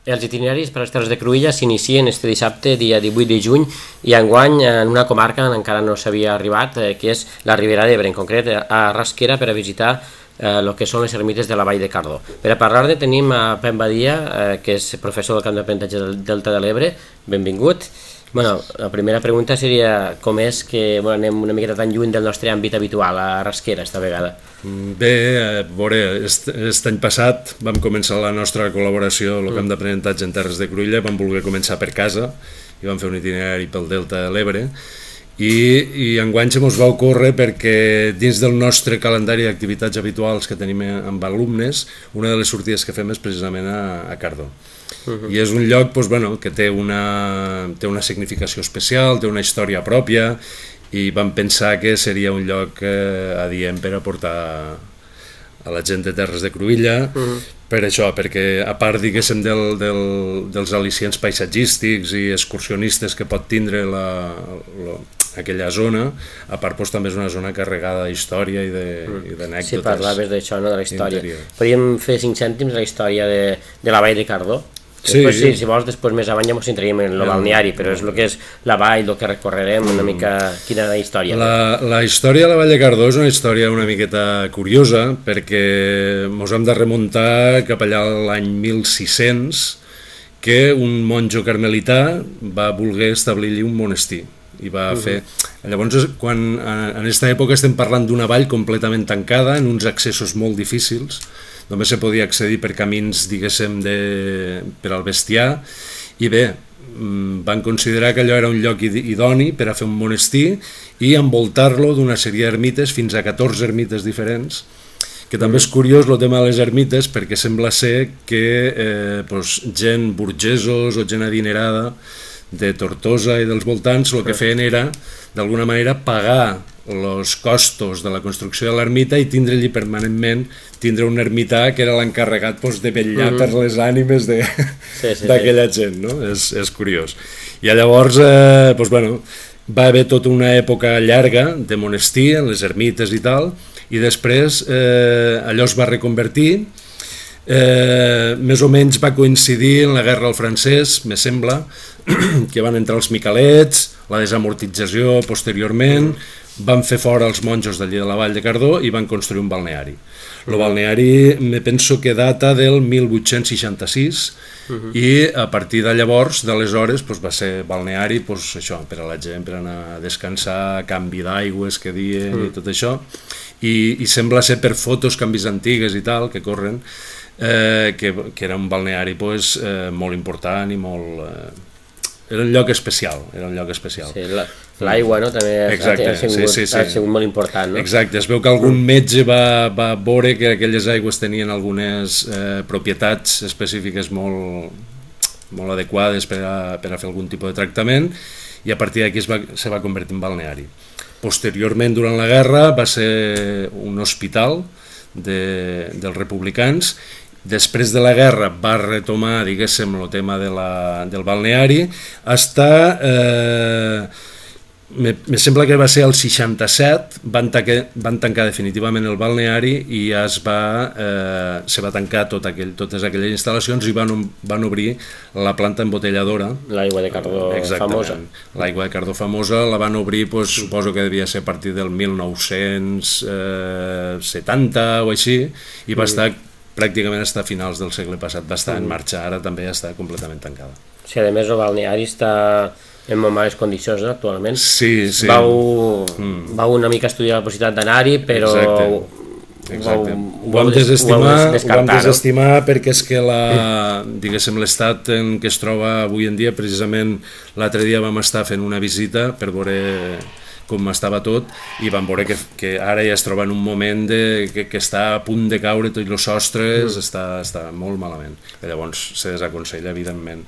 Els itineraris per a les Terres de Cruïlla s'inicien este dissabte, dia 18 de juny, i enguany en una comarca on encara no s'havia arribat, que és la Ribera d'Ebre, en concret a Rasquera, per a visitar el que són les ermites de la Vall de Cardó. Per a parlar-ne tenim a Pep Badia, que és professor del camp d'aprenentatge del Delta de l'Ebre. Benvingut. Bueno, la primera pregunta seria com és que anem una miqueta tan lluny del nostre àmbit habitual a Rasquera esta vegada. Bé, a veure, aquest any passat vam començar la nostra col·laboració al camp d'aprenentatge en Terres de Cruïlla, vam voler començar per casa i vam fer un itinerari pel Delta de l'Ebre i enguany se mos va ocórrer perquè dins del nostre calendari d'activitats habituals que tenim amb alumnes, una de les sortides que fem és precisament a Cardó. I és un lloc que té una significació especial, té una història pròpia i vam pensar que seria un lloc adient per a portar a la gent de Terres de Cruïlla, per això, perquè a part, diguéssim, dels al·licients paisatgístics i excursionistes que pot tindre aquella zona, a part també és una zona carregada d'història i d'anècdotes. Sí, parlaves d'això, de la història. Podríem fer 5 cèntims la història de la Vall de Cardó? Sí, si vols, després més avall ja ens centraríem en el balneari, però és el que és la vall, el que recorrerem, una mica quina és la història. La història de la Vall de Cardó és una història una miqueta curiosa, perquè ens hem de remuntar cap allà a l'any 1600, que un monjo carmelità va voler establir-hi un monestir i va fer... Llavors, en aquesta època estem parlant d'una vall completament tancada, en uns accessos molt difícils, només se podia accedir per camins, diguéssim, per al bestiar, i bé, van considerar que allò era un lloc idoni per a fer un monestir i envoltar-lo d'una sèrie d'ermites, fins a 14 ermites diferents, que també és curiós el tema de les ermites, perquè sembla ser que gent burgesos o gent adinerada de Tortosa i dels voltants el que feien era, d'alguna manera, pagar els costos de la construcció de l'ermita i tindre-hi permanentment un ermità que era l'encarregat de vetllar per les ànimes d'aquella gent, no? És curiós. I llavors, va haver tota una època llarga de monestir en les ermites i tal, i després allò es va reconvertir, més o menys va coincidir en la guerra al francès, me sembla, que van entrar els miquelets, la desamortització posteriorment, van fer fora els monjos d'allí de la Vall de Cardó i van construir un balneari. El balneari me penso que data del 1866 i a partir de llavors, d'aleshores, va ser balneari això, per a la gent, per anar a descansar, canvi d'aigües que diuen i tot això, i sembla ser per fotos que han vist antigues i tal, que corren, que era un balneari molt important i molt... Era un lloc especial, Sí, l'aigua, no?, també ha sigut molt important, no? Exacte, es veu que algun metge va veure que aquelles aigües tenien algunes propietats específiques molt adequades per a fer algun tipus de tractament i a partir d'aquí se va convertir en balneari. Posteriorment, durant la guerra, va ser un hospital dels republicans. Després de la guerra va retomar, diguéssim, el tema del balneari, me sembla que va ser el 67, van tancar definitivament el balneari i se va tancar totes aquelles instal·lacions i van obrir la planta embotelladora. L'aigua de Cardó famosa. L'aigua de Cardó famosa la van obrir, suposo que devia ser a partir del 1970 o així, i va estar pràcticament fins a finals del segle passat, va estar en marxa, ara també està completament tancada. Sí, a més el balneari està en molt males condicions, no, actualment? Sí. Vau una mica estudiar la possibilitat d'anar-hi, però... Exacte. Ho vam desestimar perquè és que diguéssim, l'estat en què es troba avui en dia, precisament l'altre dia vam estar fent una visita per veure com estava tot i vam veure que ara ja es troba en un moment que està a punt de caure tots els sostres, està molt malament. Llavors se desaconsella, evidentment,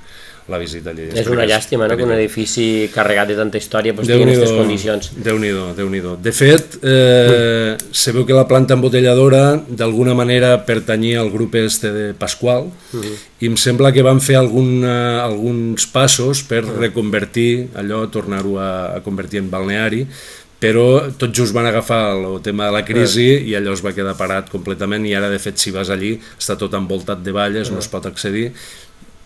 la visita allí. És una llàstima, no?, que un edifici carregat de tanta història estigui en aquestes condicions. Déu-n'hi-do. De fet, se veu que la planta embotelladora d'alguna manera pertanyia al grup de Pasqual i em sembla que van fer alguns passos per reconvertir allò, tornar-ho a convertir en balneari, però tot just van agafar el tema de la crisi i allò es va quedar parat completament i ara, de fet, si vas allí està tot envoltat de valles, no es pot accedir.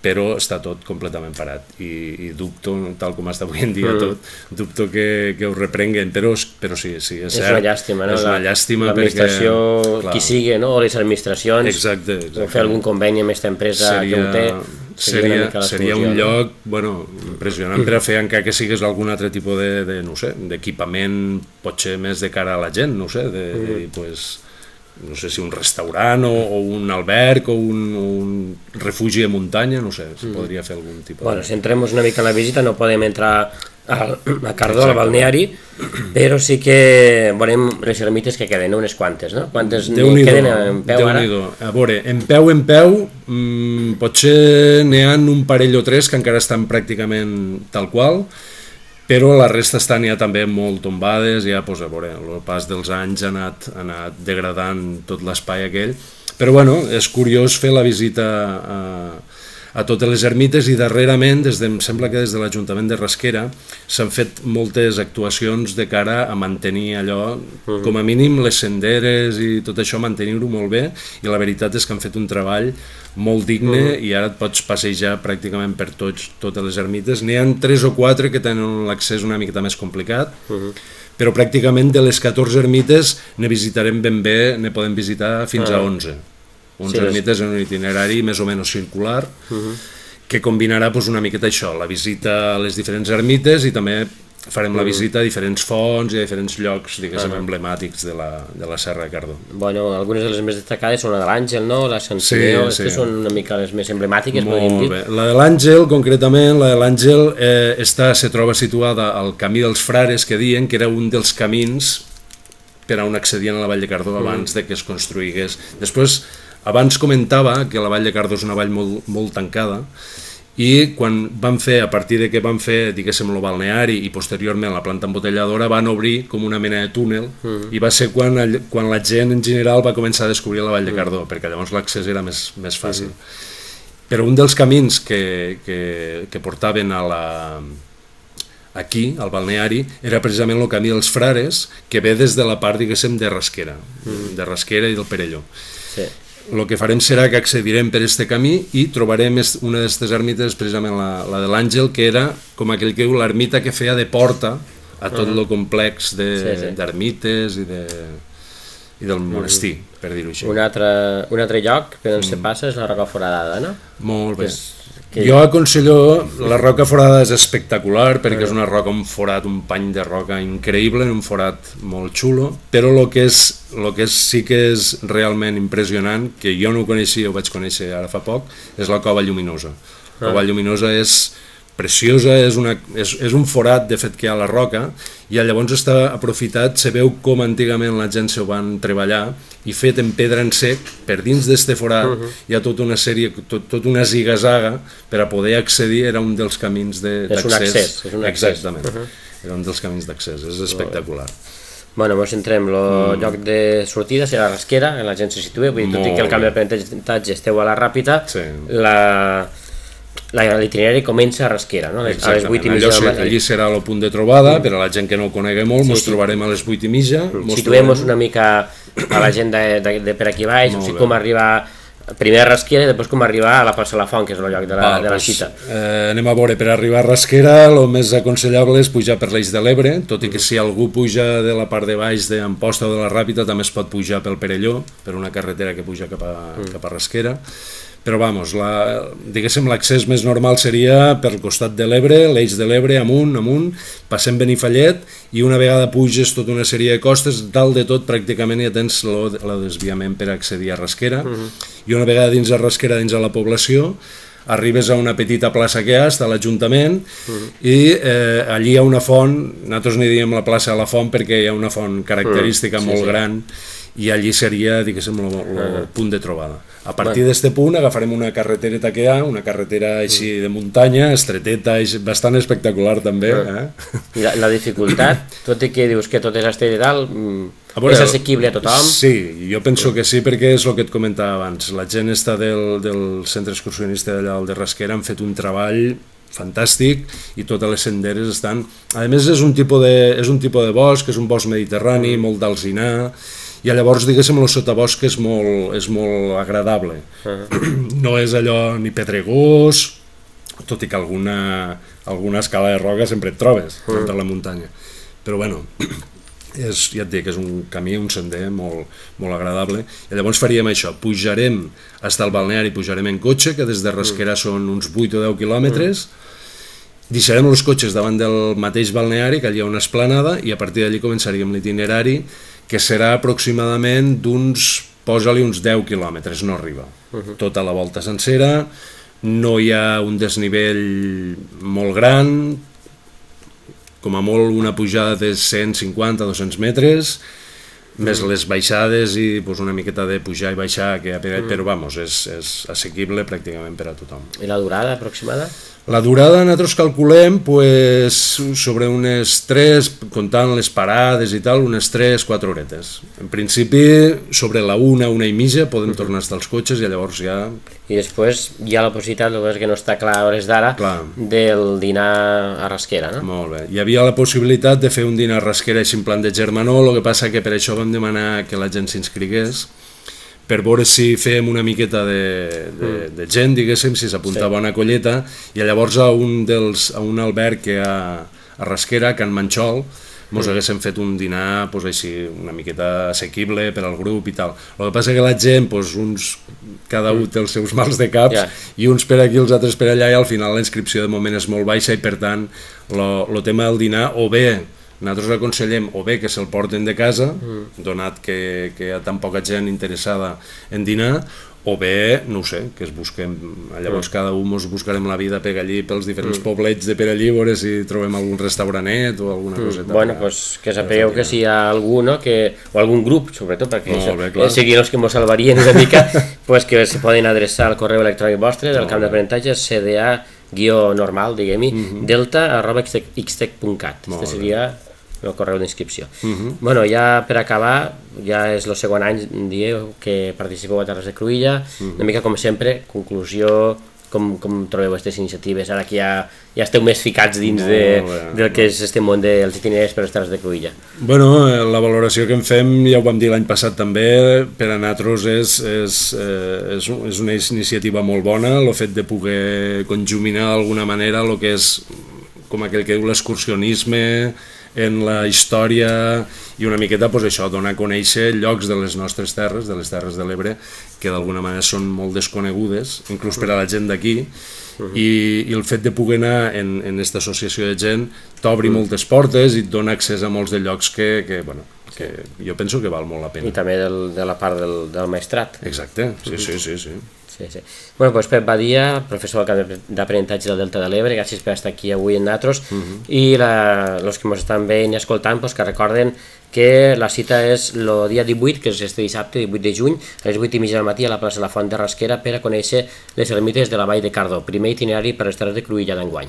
però està tot completament parat i dubto, tal com està avui en dia tot, dubto que ho reprenguen, però sí, és cert. És una llàstima, no? És una llàstima l'administració, perquè... qui sigui, no? O les administracions, exacte. o fer algun conveni amb aquesta empresa que ho té, seria un lloc, bueno, impressionant per a fer encara que sigués algun altre tipus no sé, d'equipament, potser més de cara a la gent, no sé, pues, no sé si un restaurant o un alberg o un refugi de muntanya, no sé, si podria fer algun tipus. Bueno, si entrem una mica en la visita no podem entrar a Cardó, al balneari, però sí que veurem les ermites que queden, unes quantes, no? Quantes queden en peu ara? A veure, en peu, potser n'hi ha un parell o tres que encara estan pràcticament tal qual, però la resta estan ja també molt tombades, ja, doncs, a veure, el pas dels anys ha anat degradant tot l'espai aquell, però bueno, és curiós fer la visita a totes les ermites i darrerament, em sembla que des de l'Ajuntament de Rasquera s'han fet moltes actuacions de cara a mantenir allò, com a mínim les senderes i tot això, mantenir-ho molt bé, i la veritat és que han fet un treball molt digne i ara et pots passejar pràcticament per totes les ermites. N'hi ha 3 o 4 que tenen l'accés una miqueta més complicat, però pràcticament de les 14 ermites ne visitarem ben bé, ne podem visitar fins a 11. 11 ermites en un itinerari més o menys circular, que combinarà una miqueta això, la visita a les diferents ermites i també farem la visita a diferents fonts i a diferents llocs, diguéssim, emblemàtics de la Serra de Cardó. Bueno, algunes de les més destacades són la de l'Àngel, no? La Sant Simeó, que són una mica les més emblemàtiques, podríem dir. Molt bé. La de l'Àngel, concretament, se troba situada al Camí dels Frares, que diuen que era un dels camins per on accedien a la Vall de Cardó abans de que es construïgués. Després, abans comentava que la Vall de Cardó és una vall molt tancada, i quan van fer, a partir de que van fer, diguéssim, el balneari i posteriorment la planta embotelladora, van obrir com una mena de túnel i va ser quan la gent en general va començar a descobrir la Vall de Cardó, perquè llavors l'accés era més fàcil. Però un dels camins que portaven aquí, al balneari, era precisament el Camí dels Frares, que ve des de la part, diguéssim, de Rasquera i del Perelló. Sí. El que farem serà que accedirem per aquest camí i trobarem una d'aquestes ermites, precisament la de l'Àngel, que era com aquell que diu l'ermita que feia de porta a tot el complex d'ermites i del monestir, per dir-ho així. Un altre lloc per on se passa és la Roca Foradada, no? Molt bé. Jo aconsello, la Roca Foradada és espectacular perquè és una roca, un forat, un pany de roca increïble, un forat molt xulo, però el que sí que és realment impressionant, que jo no ho coneixia, ho vaig conèixer ara fa poc, és la Cova Lluminosa. La Cova Lluminosa és preciosa, és un forat de fet que hi ha a la roca i llavors està aprofitat, se veu com antigament la gent s'ho van treballar i fet en pedra en sec, per dins d'este forat hi ha tota una sèrie, tota una ziga-zaga per a poder accedir, era un dels camins d'accés. És un accés. Exactament, era un dels camins d'accés, és espectacular. Bueno, ens centrem, el lloc de sortida serà la Rasquera, la gent se situa, vull dir, tot i que el canvi d'aprenentatge esteu a la Ràpita, l'itinerari comença a Rasquera, no? A les 8:30 del matí. Allí serà el punt de trobada, per a la gent que no ho conegui molt, ens trobarem a les 8:30. Situem-nos una mica a la gent de per aquí baix, o sigui, com arribar primer a Rasquera i després com arribar a la plaça La Font, que és el lloc de la cita. Anem a veure, per arribar a Rasquera el més aconsellable és pujar per l'Eix de l'Ebre, tot i que si algú puja de la part de baix d'Amposta o de la Ràpita també es pot pujar pel Perelló, per una carretera que puja cap a Rasquera. Però vamos, diguéssim, l'accés més normal seria per costat de l'Ebre, l'Eix de l'Ebre, amunt, passem Benifallet i una vegada puges tota una sèrie de costes, dalt de tot pràcticament ja tens el desviament per accedir a Rasquera i una vegada dins de Rasquera, dins de la població, arribes a una petita plaça que hi ha, està l'Ajuntament i allí hi ha una font, nosaltres n'hi diem la plaça de la Font perquè hi ha una font característica molt gran i allí seria, diguéssim, el punt de trobada. A partir d'aquest punt agafarem una carretereta que hi ha, una carretera així de muntanya, estreteta, bastant espectacular també. I la dificultat, tot i que dius que tot és estret i tal, és assequible a tothom? Sí, jo penso que sí, perquè és el que et comentava abans. La gent està del centre excursionista d'allà de Rasquera, han fet un treball fantàstic i totes les senderes estan... A més és un tipus de bosc, és un bosc mediterrani, molt d'alzinar, i llavors, diguéssim, el sotabosc és molt agradable. No és allò ni pedregós, tot i que alguna escala de roca sempre et trobes per la muntanya. Però bueno, ja et dic, és un camí, un sender molt agradable. I llavors faríem això, pujarem fins al balneari, pujarem en cotxe, que des de Rasquera són uns 8 o 10 quilòmetres, deixarem els cotxes davant del mateix balneari, que allà hi ha una esplanada, i a partir d'allí començaríem l'itinerari, que serà aproximadament posa-li uns 10 quilòmetres, no arriba. Tota la volta sencera, no hi ha un desnivell molt gran, com a molt una pujada de 150-200 metres, més les baixades i una miqueta de pujar i baixar, però vamos, és assequible pràcticament per a tothom. I la durada aproximada? La durada nosaltres calculem sobre unes 3, comptant les parades i tal, unes 3-4 horetes. En principi, sobre la 1 i mitja podem tornar als cotxes i llavors ja... I després hi ha la possibilitat, el que no està clar a hores d'ara, del dinar a Rasquera, no? Molt bé. Hi havia la possibilitat de fer un dinar a Rasquera així en plan de germanor, el que passa que per això vam demanar que la gent s'inscrigués, per veure si fèiem una miqueta de gent, diguéssim, si s'apuntava a una colleta, i llavors a un alberg que hi ha a Rasquera, a Can Manxol, ens haguéssim fet un dinar així una miqueta assequible per al grup i tal. El que passa que la gent, cada un té els seus mals de caps, i uns per aquí, els altres per allà, i al final la inscripció de moment és molt baixa, i per tant el tema del dinar, o bé nosaltres aconsellem o bé que se'l porten de casa, donat que hi ha tan poca gent interessada en dinar, o bé, no ho sé, que es busquem, llavors cada un ens buscarem la vida per allí, pels diferents poblets de per allí, veure si trobem algun restauranet o alguna coseta. Bueno, doncs que sapigueu que si hi ha algú, o algun grup, sobretot, perquè siguin els que ens salvarien una mica, que se poden adreçar al correu electrònic vostre del camp d'aprenentatge, cda-normal, diguem-hi, delta@xtec.cat. Este seria el correu d'inscripció. Bueno, ja per acabar, ja és el segon any, dieu, que participeu a Terres de Cruïlla, una mica com sempre, conclusió, com trobeu aquestes iniciatives, ara que ja esteu més ficats dins del que és este món dels itineraris per les Terres de Cruïlla. Bueno, la valoració que en fem, ja ho vam dir l'any passat també, per a nosaltres és una iniciativa molt bona, el fet de poder conjuminar d'alguna manera el que és, com aquell que diu, l'excursionisme en la història, i una miqueta això, donar a conèixer llocs de les nostres terres, de les Terres de l'Ebre, que d'alguna manera són molt desconegudes, inclús per a la gent d'aquí, i el fet de poder anar en aquesta associació de gent t'obri moltes portes i et dona accés a molts de llocs que jo penso que val molt la pena. I també de la part del maestrat. Exacte, sí. Bueno, doncs Pep Badia, professor del camp d'aprenentatge del Delta de l'Ebre, gràcies per estar aquí avui amb nosaltres, i els que ens estan veient i escoltant, que recorden que la cita és el dia 18, que és este dissabte, 18 de juny, a les 8:30 del matí a la plaça de la Font de Rasquera, per a conèixer les ermites de la Vall de Cardó, primer itinerari per les Terres de Cruïlla d'enguany.